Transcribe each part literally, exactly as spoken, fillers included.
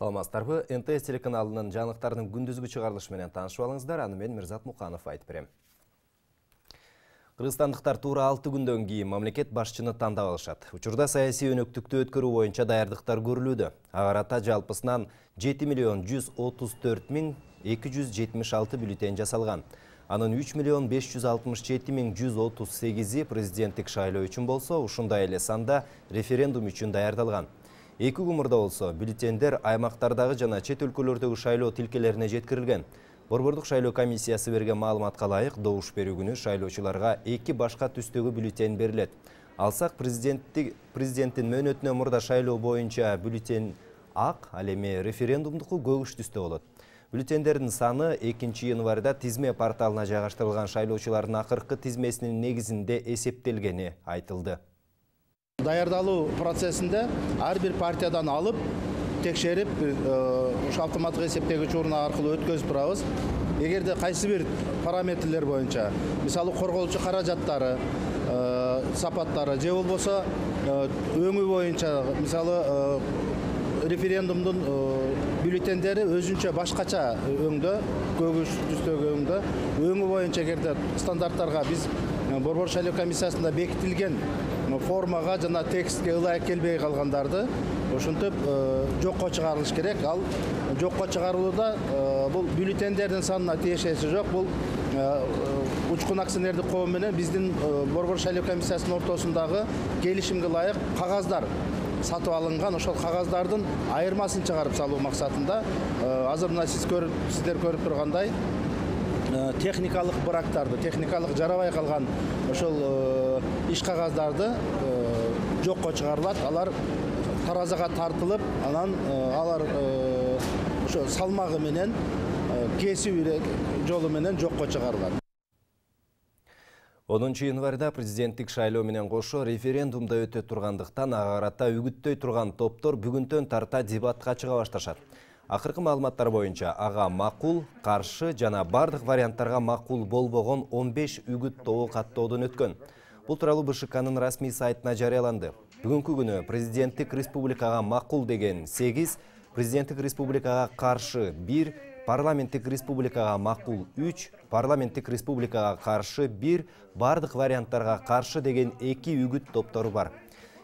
Саламатсыздарбы, эн тэ эс телеканалынын жаңылыктарынын күндүзгү чыгарылышы менен таанышып алыңыздар. Аны мен Мирзат Муканов айтып берем. Кыргызстандыктар туура алты күндөн кийин мамлекет башчыны тандап алышат. Учурда саясий өнөктүктү өткөрүү боюнча даярдыктар көрүлүүдө. Ага карата жалпысынан жети миллион жүз отуз төрт миң эки жүз жетимиш алты бюллетень жасалган. Анын үч миллион беш жүз алтымыш жети миң жүз отуз сегизи президенттик шайлоо үчүн болсо, ушундай эле санда референдум үчүн даярдалган. Эки күн мурда болсо, бюллетендер аймактардагы жана чет өлкөлөрдөгү шайлоо тилкелерине жеткирилген. Борбордук шайлоо комиссиясы берген маалыматка ылайык, добуш берүү күнү шайлоочуларга эки башка түстөгү бюллетень берилет. Алсак, президенттин мөөнөтүнөн мурда шайлоо боюнча бюллетень ак, ал эми референдумдуку көгүш түстө болот. Бюллетендердин саны экинчи январда тизме порталына жайгаштырылган шайлоочулардын акыркы тизмесинин негизинде эсептелгени айтылды. Даярдалуу процессинде ар бир партиядан алып, текшерип, ушу автоматтык эсептегич урун аркылуу өткөзүп турабыз. Эгерде кайсы бир параметрлер боюнча, мисалы корголчу каражаттары, сапаттары же болбосо өңү боюнча, мисалы референдумдун бюллетендери өзүнчө башкача өңдө, көгүш түстөгү өңдө, өңү боюнча эгерде стандарттарга биз Борбор шайлоо комиссиясында бекитилген формага жана текстке ылайык келбей калгандарды ошентип жокко чыгарылыш керек. Ал жокко чыгарылууда бул бюллетендердин санына тиешеси жок. Бул Учкун акционердик коом менен биздин Борбор шайлоо комиссиясынын ортосундагы келишимге ылайык кагаздар сатып алынган. Ошол кагаздардын айырмасын чыгарып салуу максатында азыр мына сиз көрүп, сиздер көрүп тургандай техникалык брактарды, техникалык жарабай калган ошол иш кагаздарды жокко чыгарылат. Алар таразага тартылып, анан алар ошо салмагы менен кесип жолу менен жокко чыгарылат. онунчу январда президенттик шайлоо менен кошо референдумда өтө тургандыктан ага карата үгүттөй турган топтор бүгүнтөн тарта дебатка чыга башташат. Акыркы маалыматтар боюнча ага макул, каршы жана бардык варианттарга макул болбогон он беш үгүт тобу каттоодон өткөн. Бул тууралуу бэ эшэ канын расмий сайтына жарыяланды. Бүгүнкү күнү президенттик республикага макул деген сегиз, президенттик республикага каршы бир, парламенттик республикага макул үч, парламенттик республикага каршы бир, бардык варианттарга каршы деген эки үгүт топтору бар.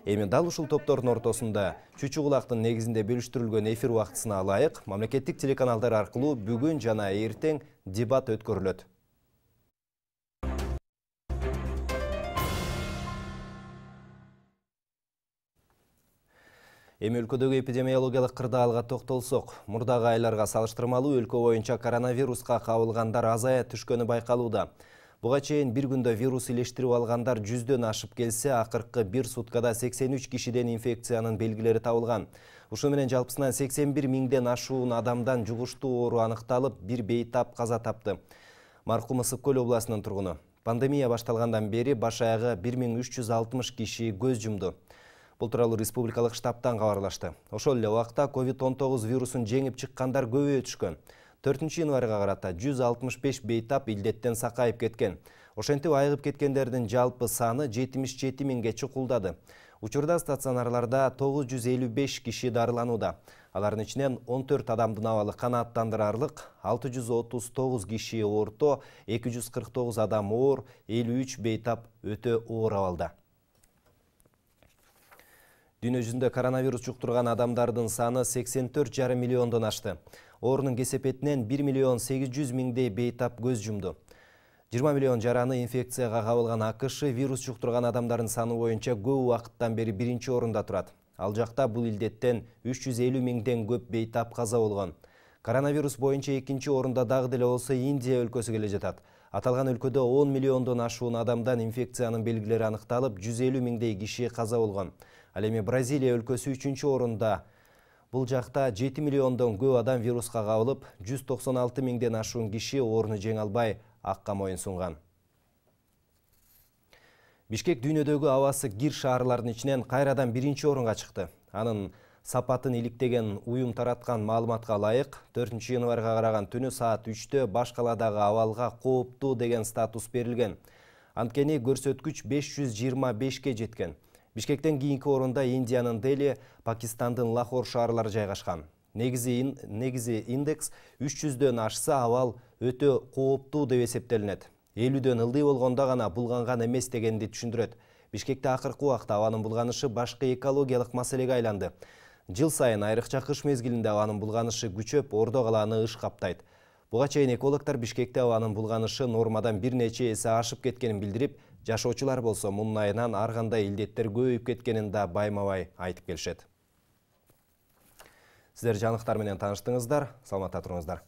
Эми дал ушул топтордун ортосунда чүчү кулактын негизинде бөлүштүрүлгөн эфир убактысына ылайык мамлекеттик телеканалдар аркылуу бүгүн жана эртең дебат өткөрүлөт. Эми өлкөдөгү эпидемиологиялык кырдаалга токтолсок, мурдагы айларга салыштырмалуу өлкө боюнча коронавируска кабылгандар азая түшкөнү байкалууда. Буга чейин бир күндө вирус илештирип алгандар жүздөн ашып келсе, акыркы бир суткада сексен үч кишиден инфекциянын белгилери табылган. Ушу менен жалпысынан сексен бир миңден ашуун адамдан жугуштуу оору аныкталып, бир бейтап каза тапты. Маркум Ысык Көл областынын тургуну. Пандемия башталгандан бери баш аягы бир миң үч жүз алтымыш киши көз жумду. Бул тууралуу республикалык штабтан кабарлашты. Ошол эле убакта ковид он тогуз вирусун жеңип чыккандар көбөйө түшкөн. төртүнчү январга карата жүз алтымыш беш бейтап илдеттен сакайып кеткен. Ошентип айыгып кеткендердин жалпы саны жетимиш жети миңге чукулдады. Учурда стационарларда тогуз жүз элүү беш киши дарыланууда. Алардын ичинен он төрт адамдын абалы канааттандырарлык, алты жүз отуз тогуз киши орто, эки жүз кырк тогуз адам оор, элүү үч бейтап өтө оор абалда. Дүйнө жүзүндө коронавирус жуктурган адамдардын саны сексен төрт жарым миллиондон ашты. Оорунун кесепетинен бир миллион сегиз жүз миңдей бейтап көз жумду. жыйырма миллион жараны инфекцияга кабылган АКШ вирус жуктурган адамдардын саны боюнча көп убакыттан бери биринчи орунда турат. Ал жакта бул илдеттен үч жүз элүү миңден көп бейтап каза болгон. Коронавирус боюнча экинчи орунда дагы деле болсо Индия өлкөсү келе жатат. Аталган өлкөдө он миллиондон ашуун адамдан инфекциянын белгилери аныкталып, жүз элүү миңдей киши каза болгон. Ал эми Бразилия өлкөсү үчүнчү орунда. Бул жакта жети миллиондон көп адам вируска кабылып, жүз токсон алты миңден ашуун киши ооруну жеңе албай акка моюн сунган. Бишкек дүйнөдөгү абасы кир шаарлардын ичинен кайрадан биринчи орунга чыкты. Анын сапатын иликтеген уюм тараткан маалыматка ылайык, төртүнчү январга караган түнү саат үчтө баш каладагы абалга кооптуу деген статус берилген. Анткени көрсөткүч беш жүз жыйырма бешке жеткен. Бишкектен кийинки орунда Индиянын Дели, Пакистандын Лахор шаарлары жайгашкан. Негизи, негизи индекс үч жүздөн ашса абал өтө кооптуу деп эсептелинет. элүүдөн ылдый болгондо гана булганган эмес дегенди түшүндүрөт. Бишкекте акыркы убакта абанын булганышы башкы экологиялык маселеге айланды. Жыл сайын айрыкча кыш мезгилинде абанын булганышы күчөп, Ордо калааны ыш каптайт. Буга чейин экологдор Бишкекте абанын булганышы нормадан бир нече эсе ашып кеткенин билдирип, жашоочулар болсо мунун айынан ар кандай илдеттер көбөйүп кеткенин да байма-бай айтып келишет. Сиздер жаңылыктар менен тааныштыңыздар, саламатта туруңуздар.